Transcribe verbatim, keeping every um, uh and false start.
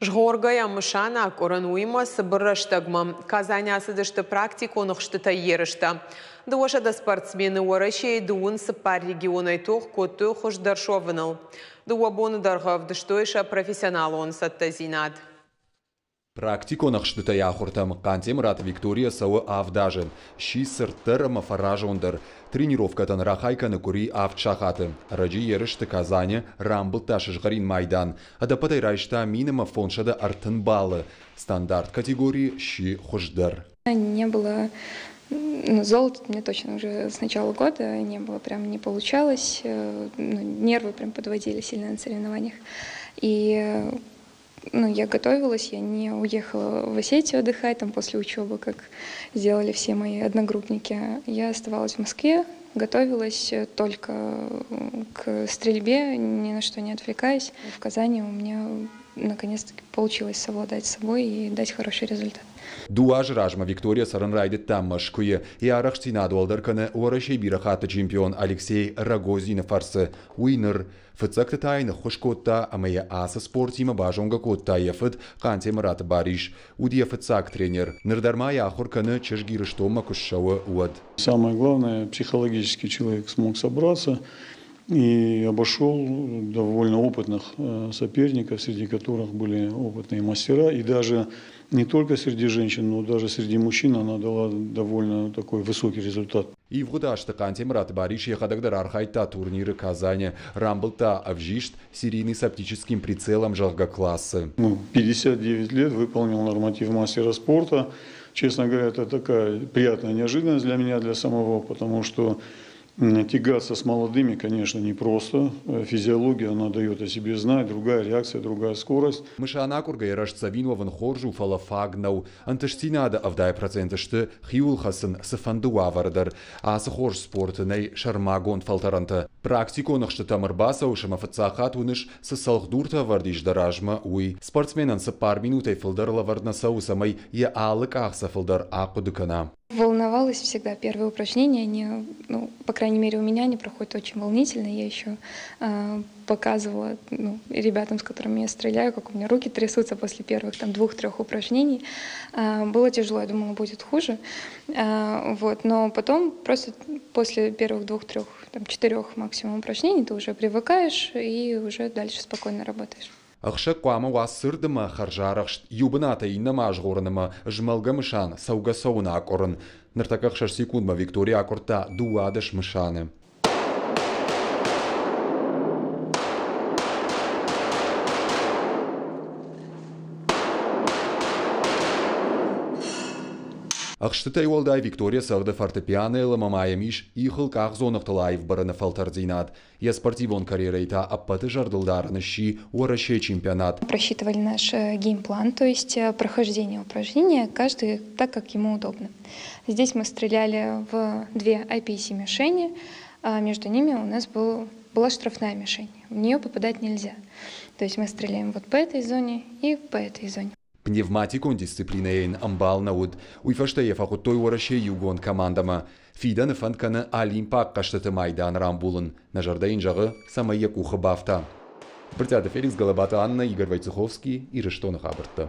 Згъоргӕйӕ мысан акъуырын, уыимӕ цыбыр рӕстӕгмӕ. Казаны ацыдысты практикон ӕхстытӕй ерыстӕ. Дыууӕсӕдӕ спортсмены Уӕрӕсейы дыууын цыппар регионӕй тох кодтой хуыздӕр суӕвыныл. Дыууӕ боны дӕргъы ӕвдыстой сӕ профессионалон цӕттӕдзинад. Практикон ӕхстытӕй ахуыртӕм Хъантемыраты Виктория цӕуы авд азы. Сси цырддӕр ӕмӕ фӕразондӕр. Тренировкӕтӕн рахай кӕны къуыри авд сахаты. Ӕрӕджы ерысты Казаны рамбылдта сызгъӕрин майдан. Ӕдӕппӕтӕй райста мин ӕмӕ фондзсӕдӕ ӕртын баллы. Стандарт категорийы сси хуыздӕр. Не было, ну, золота у меня точно уже с начала года не было, прям не получалось. Ну, нервы прям подводили сильно на соревнованиях. И ну, я готовилась, я не уехала в Осетию отдыхать там после учебы, как сделали все мои одногруппники. Я оставалась в Москве, готовилась только к стрельбе, ни на что не отвлекаясь. В Казани у меня наконец-таки получилось совладать с собой и дать хороший результат. Дыууӕ азы размӕ Виктория цӕрын райдыдта Мӕскуыйы. Йӕ арӕхстдзинад уӕлдӕр кӕны Уӕрӕсейы бирӕ хатты чемпион Алексей Рогозины фӕрцы. Уый ныр фыццӕгты та йын ӕххуыс кодта ӕмӕ йӕ ацы спортимӕ базонгӕ кодта йӕ фыд Хъантемыраты Барис. Уыд йӕ фыццаг тренер. Ныр дӕр ма йӕ ахуыр кӕны чызг Ирыстонмӕ куы ссӕуы, уӕд. Самое главное, психологически человек смог собраться и обошел довольно опытных соперников, среди которых были опытные мастера. И даже не только среди женщин, но даже среди мужчин она дала довольно такой высокий результат. Ивгъуыд азты Хъантемыраты Барис йӕхӕдӕг дӕр архайдта турниры Казаны. Рамбылдта ӕвзист серийный с оптическим прицелом зӕгъгӕ классы. Ну, пятьдесят девять лет выполнил норматив мастера спорта. Честно говоря, это такая приятная неожиданность для меня, для самого, потому что тягаться с молодыми, конечно, непросто. Физиология, она дает о себе знать, другая реакция, другая скорость. Мысан акъуыргӕйӕ рӕстдзӕвин уӕвын хорз у, фӕлӕ фаг нӕу. Ӕнтыстдзинады ӕвдай проценты сты хиуыл хӕцын цыфӕнды уавӕры дӕр. Ацы хорз спорты нӕй сӕрмагонд фӕлтӕрӕнтӕ. Практикон ӕхстытӕм ӕрбацӕуыс ӕмӕ фыццаг хатт уыныс, цы цӕлхдуртӕ ӕвӕрд ис дӕ размӕ, уый. Спортсменӕн цыппар минутӕй фылдӕр лӕвӕрд нӕ цӕуы, цӕмӕй йӕ алы къахдзӕфыл дӕр ахъуыды кӕна. Волновалась всегда. Первые упражнения, они, ну, по крайней мере, у меня они проходят очень волнительно. Я еще, э, показывала, ну, ребятам, с которыми я стреляю, как у меня руки трясутся после первых там, двух-трех упражнений. Э, было тяжело, я думала, будет хуже. Э, вот, но потом просто после первых двух-трех, там, четырех максимум упражнений ты уже привыкаешь и уже дальше спокойно работаешь. Ӕхсӕг хъуамӕ уа цырд ӕмӕ хӕрзарӕхст, иу бынатӕй иннӕмӕ азгъорын ӕмӕ змӕлгӕ мысан цӕугӕ-цӕуын акъуырын. Ныртӕккӕ ӕхсӕз секундмӕ Виктория акъуырдта дыууадӕс мысаны. Ӕхстытӕй уӕлдай Виктория цӕгъды фортепианойыл ӕмӕ ма йӕм ис ихыл къахдзоныгътыл аив бырыны фӕлтӕрддзинад. Йӕ спортивон карьерӕйы та ӕппӕты зӕрдылдарӕн сси Уӕрӕсейы чемпионат. Просчитывали наш геймплан, то есть прохождение упражнения, каждый так, как ему удобно. Здесь мы стреляли в две ай пи си мишени, а между ними у нас был, была штрафная мишень, в нее попадать нельзя. То есть мы стреляем вот по этой зоне и по этой зоне. Пневматикон дисциплинӕйы йын ӕмбал нӕ уыд. Уый фӕстӕ йӕ фӕхуыдтой Уӕрӕсейы иугонд командӕмӕ. Фидӕны фӕнд кӕны Олимпаг хъӕзтыты майдан рамбулын. Нӕ зӕрдӕ йын зӕгъы, цӕмӕй йӕ къухы бафта. Брытъиаты Феликс, Гӕлӕбаты Аннӕ, Игорь Войцеховский, Ирыстоны хабӕрттӕ.